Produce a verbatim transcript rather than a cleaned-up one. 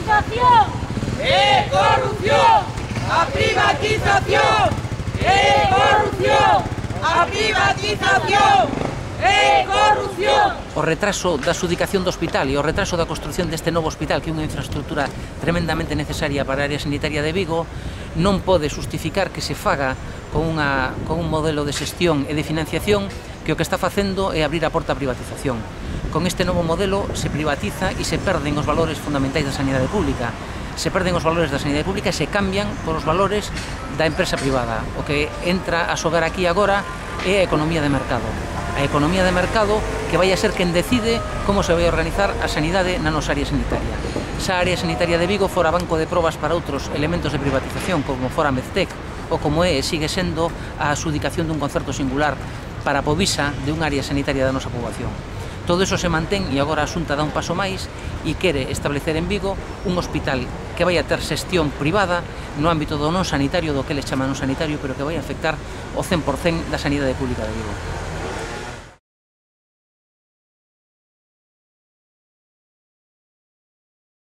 privatización é corrupción, a privatización é corrupción, a privatización é corrupción. O retraso da adxudicación do hospital e o retraso da construción deste novo hospital, que é unha infraestructura tremendamente necesaria para a área sanitaria de Vigo, non pode justificar que se faga con, unha, con un modelo de xestión e de financiación que o que está facendo é abrir a porta a privatización. Con este novo modelo se privatiza e se perden os valores fundamentais da sanidade pública. Se perden os valores da sanidade pública e se cambian por os valores da empresa privada. O que entra a xogar aquí agora é a economía de mercado. A economía de mercado que vai a ser quen decide como se vai organizar a sanidade na nosa área sanitaria. Se a área sanitaria de Vigo fora banco de probas para outros elementos de privatización, como fora Medtec, ou como é e sigue sendo a adxudicación dun concerto singular para a Povisa de unha área sanitaria da nosa poboación. Todo iso se mantén e agora a Xunta dá un paso máis e quere establecer en Vigo un hospital que vai a ter xestión privada no ámbito do non sanitario, do que les chama non sanitario, pero que vai a afectar o cen por cen da sanidade pública de Vigo.